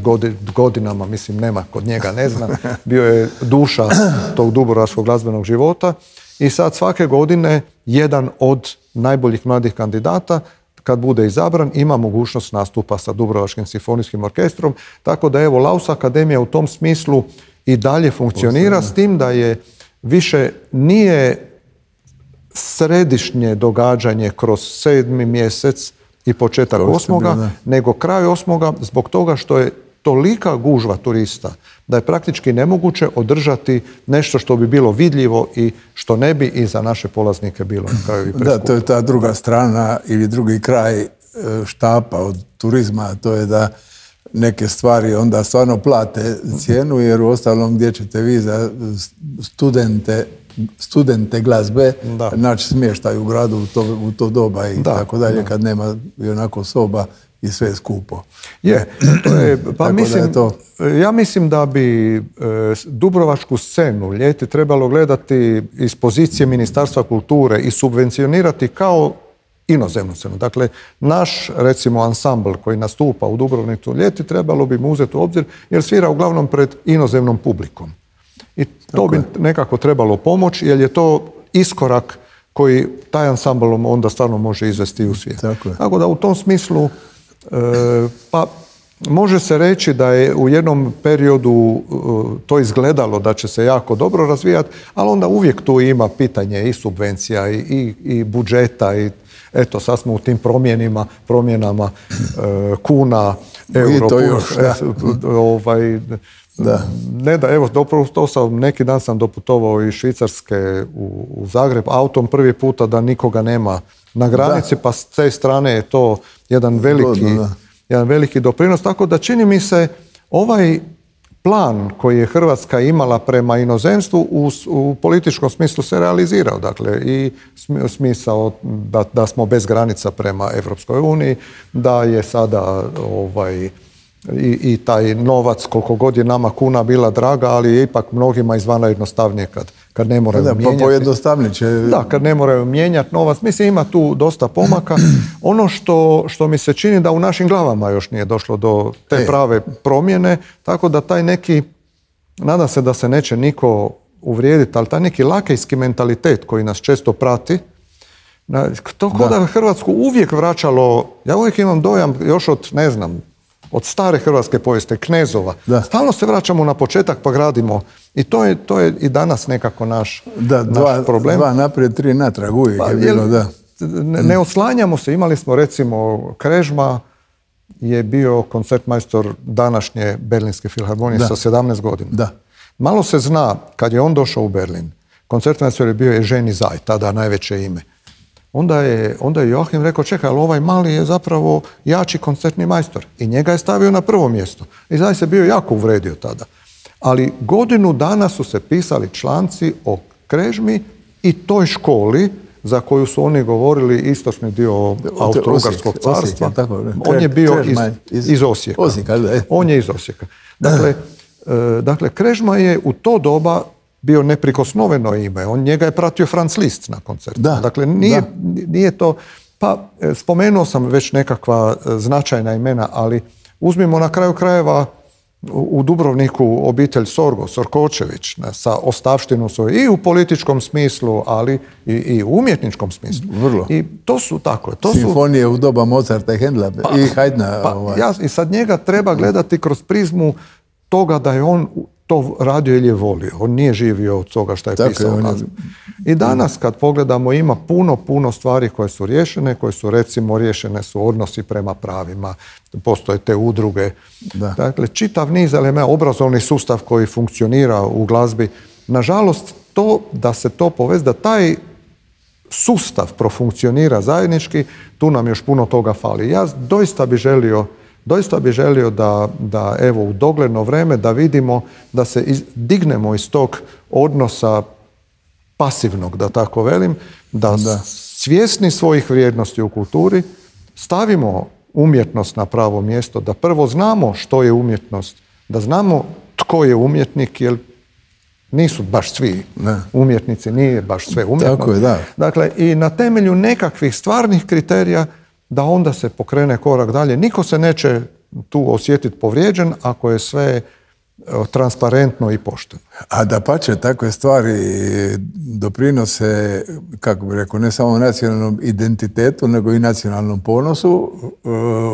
godinama, mislim, nema kod njega, ne zna, bio je duša tog dubrovačkog glazbenog života i sad svake godine jedan od najboljih mladih kandidata, kad bude izabran, ima mogućnost nastupa sa Dubrovačkim simfonijskim orkestrom, tako da evo Laus Akademija u tom smislu i dalje funkcionira, s tim da je više nije središnje događanje kroz 7. mjesec i početak 8. nego kraj 8. zbog toga što je tolika gužva turista da je praktički nemoguće održati nešto što bi bilo vidljivo i što ne bi i za naše polaznike bilo na kraju i preskupo. Da, to je ta druga strana ili drugi kraj štapa od turizma, to je da neke stvari onda stvarno plate cijenu, jer u ostalom gdje ćete vi za studente glazbe naći smještaj u gradu u to doba i tako dalje, kad nema i onako soba i sve skupo. Ja mislim da bi dubrovačku scenu ljeti trebalo gledati iz pozicije Ministarstva kulture i subvencionirati kao inozemnu scenu. Dakle, naš, recimo, ansambl koji nastupa u Dubrovniku ljeti trebalo bi mu uzeti u obzir jer svira uglavnom pred inozemnom publikom. I to bi nekako trebalo pomoći jer je to iskorak koji taj ansambl onda stvarno može izvesti u svijet. Tako da u tom smislu pa može se reći da je u jednom periodu to izgledalo da će se jako dobro razvijati, ali onda uvijek tu ima pitanje i subvencija i budžeta i eto, sad smo u tim promjenama kuna, euro, neki dan sam doputovao iz Švicarske u Zagreb autom prvi puta da nikoga nema na granici, pa s te strane je to jedan veliki doprinos, tako da čini mi se ovaj plan koji je Hrvatska imala prema inozemstvu u političkom smislu se realizirao. Dakle, i smisao da smo bez granica prema Evropskoj uniji, da je sada i taj novac, koliko god je nama kuna bila draga, ali je ipak mnogima izvana jednostavnije kad ne moraju mijenjati. Kad ne moraju mijenjati novac. Mislim, ima tu dosta pomaka. Ono što mi se čini da u našim glavama još nije došlo do te prave promjene, tako da taj neki, nadam se da se neće niko uvrijediti, ali taj neki lakejski mentalitet koji nas često prati, to kod da Hrvatsku uvijek vraćalo, ja uvijek imam dojam još od, ne znam, od stare hrvatske povijesti, knezova. Stalno se vraćamo na početak pa gradimo. I to je i danas nekako naš problem. 2 naprijed, 3 natrag uvijek je bilo, da. Ne oslanjamo se. Imali smo, recimo, Krežma je bio koncertmajstor današnje Berlinske filharmonije sa 17 godina. Malo se zna, kad je on došao u Berlin, koncertmajstor je bio Eugeni Zaj, tada najveće ime. Onda je Joachim rekao, čekaj, ali ovaj mali je zapravo jači koncertni majstor. I njega je stavio na prvo mjesto. I Zaj se bio jako uvredio tada. Ali godinu dana su se pisali članci o Krežmi i toj školi za koju su oni govorili istočni dio Austro-Ugarskog carstva. On je bio iz Osijeka. On je iz Osijeka. Dakle, Krežma je u to doba bio neprikosnoveno ime. Njega je pratio Franz Liszt na koncertu. Dakle, nije to... Pa, spomenuo sam već nekakva značajna imena, ali Uzmimo na kraju krajeva u Dubrovniku obitelj Sorkočević sa ostavštinom svoju i u političkom smislu, ali i u umjetničkom smislu. Vrlo. I to su tako. Simfonije u doba Mozarta i Hendla i Haydna. I sad njega treba gledati kroz prizmu toga da je on to radio ili je volio. On nije živio od toga što je pisao. I danas kad pogledamo ima puno stvari koje su riješene, koje su recimo riješene su odnosi prema pravima, postoje te udruge. Da. Dakle, čitav niz elementa, obrazovni sustav koji funkcionira u glazbi. Nažalost, to da se to poveze, da taj sustav profunkcionira zajednički, tu nam još puno toga fali. Ja doista bi želio da evo u dogledno vreme da vidimo da se dignemo iz tog odnosa pasivnog, da tako velim, da svjesni svojih vrijednosti u kulturi stavimo umjetnost na pravo mjesto, da prvo znamo što je umjetnost, da znamo tko je umjetnik, jer nisu baš svi umjetnici, nije baš sve umjetnost. Tako je, da. Dakle, i na temelju nekakvih stvarnih kriterija da onda se pokrene korak dalje. Niko se neće tu osjetiti povrijeđen ako je sve transparentno i pošteno. A dapače, takve stvari doprinose, kako bih rekao, ne samo nacionalnom identitetu, nego i nacionalnom ponosu.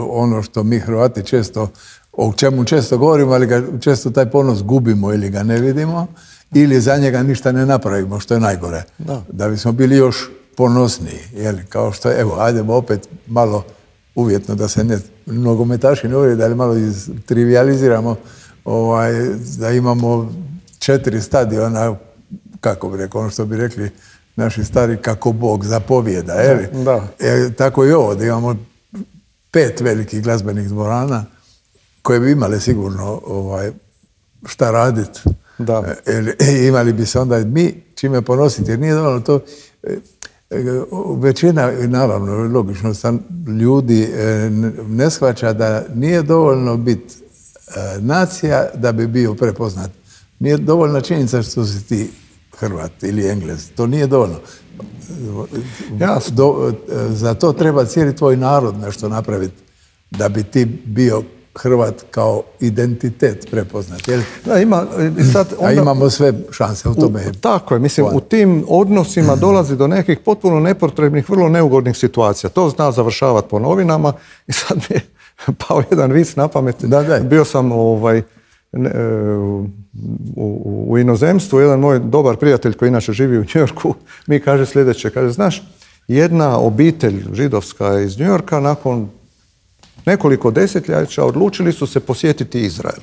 Ono što mi Hrvati često, o čemu često govorimo, ali ga često taj ponos gubimo ili ga ne vidimo, ili za njega ništa ne napravimo, što je najgore. Da bismo bili još ponosniji, kao što je, evo, ajdemo opet malo uvjetno da se nogometaši ne uvijek, ali malo trivializiramo, da imamo 4 stadiona, kako bi rekao, ono što bi rekli naši stari, kako Bog zapovijeda, tako i ovo, da imamo 5 velikih glazbenih dvorana koje bi imale sigurno šta raditi. Imali bi se onda mi čime ponositi, jer nije dovoljno to. Većina, naravno, logično, ljudi ne shvaća da nije dovoljno biti nacija da bi bio prepoznat. Nije dovoljna činjenica što si ti Hrvat ili Englez. To nije dovoljno. Za to treba cijeli tvoj narod nešto napraviti da bi ti bio Hrvat kao identitet prepoznat. A imamo sve šanse u tome. Tako je, mislim, u tim odnosima dolazi do nekih potpuno nepotrebnih, vrlo neugodnih situacija. To zna završavati po novinama i sad mi je pao jedan vic na pamet. Bio sam u inozemstvu, jedan moj dobar prijatelj koji inače živi u New Yorku, mi kaže sljedeće, kaže, znaš, jedna obitelj židovska iz New Yorka nakon nekoliko desetljeća odlučili su se posjetiti Izrael.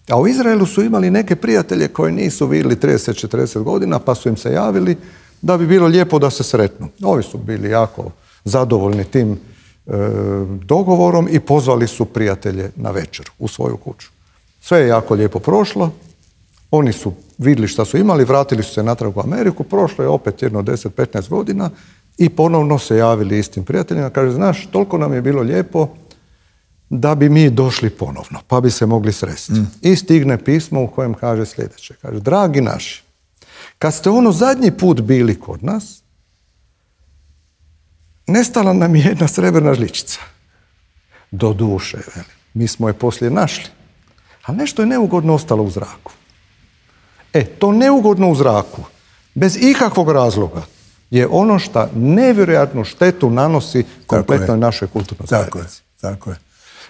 A u Izraelu su imali neke prijatelje koje nisu vidjeli 30-40 godina, pa su im se javili da bi bilo lijepo da se sretnu. Ovi su bili jako zadovoljni tim dogovorom i pozvali su prijatelje na večer u svoju kuću. Sve je jako lijepo prošlo, oni su vidjeli šta su imali, vratili su se natrag u Ameriku, prošlo je opet jedno 10-15 godina i ponovno se javili istim prijateljima. Kaže, znaš, toliko nam je bilo lijepo da bi mi došli ponovno, pa bi se mogli sresti. I stigne pismo u kojem kaže sljedeće. Kaže, dragi naši, kad ste zadnji put bili kod nas, nestala nam je jedna srebrna žličica. Do duše, mi smo je poslije našli. A nešto je neugodno ostalo u zraku. To neugodno u zraku, bez ikakvog razloga, je ono što nevjerojatnu štetu nanosi kompletnoj našoj kulturnoj zajednici. Tako je.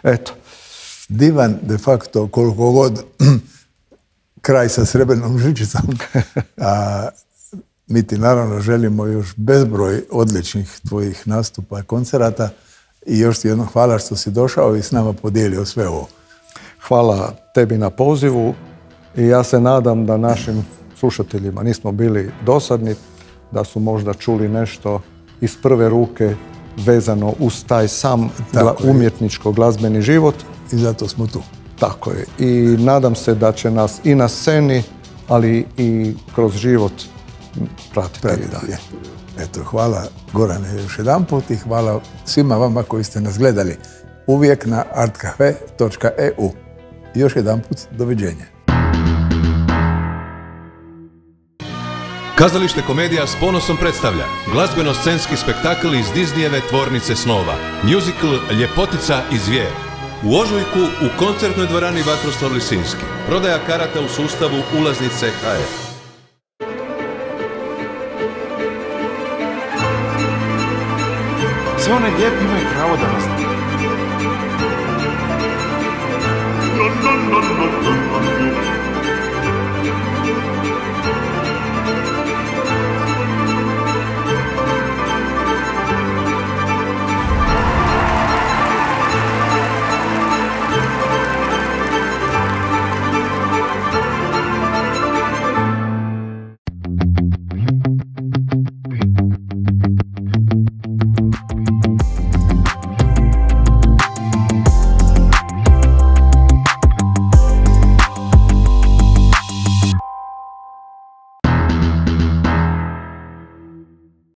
Eto. Divan, de facto, koliko god kraj sa srebrnom žličicom. Mi ti naravno želimo još bezbroj odličnih tvojih nastupa i koncerata i još ti jedno hvala što si došao i s nama podijelio sve ovo. Hvala tebi na pozivu i ja se nadam da našim slušateljima nismo bili dosadni, da su možda čuli nešto iz prve ruke vezano uz taj sam umjetničko-glazbeni život. I zato smo tu. Tako je. I nadam se da će nas i na sceni, ali i kroz život pratiti dalje. Eto, hvala Gorane još jedanput i hvala svima vama koji ste nas gledali uvijek na artcafe.eu. Još jedanput, doviđenja. Kazalište Komedija s ponosom predstavlja glazbeno-scenski spektakl iz Disneyjeve Tvornice snova, musical Ljepotica i zvijer. U ožujku u koncertnoj dvorani Vatroslav Lisinski. Prodaja karata u sustavu ulaznice HR. Sve one lijepe imaju pravo da nas...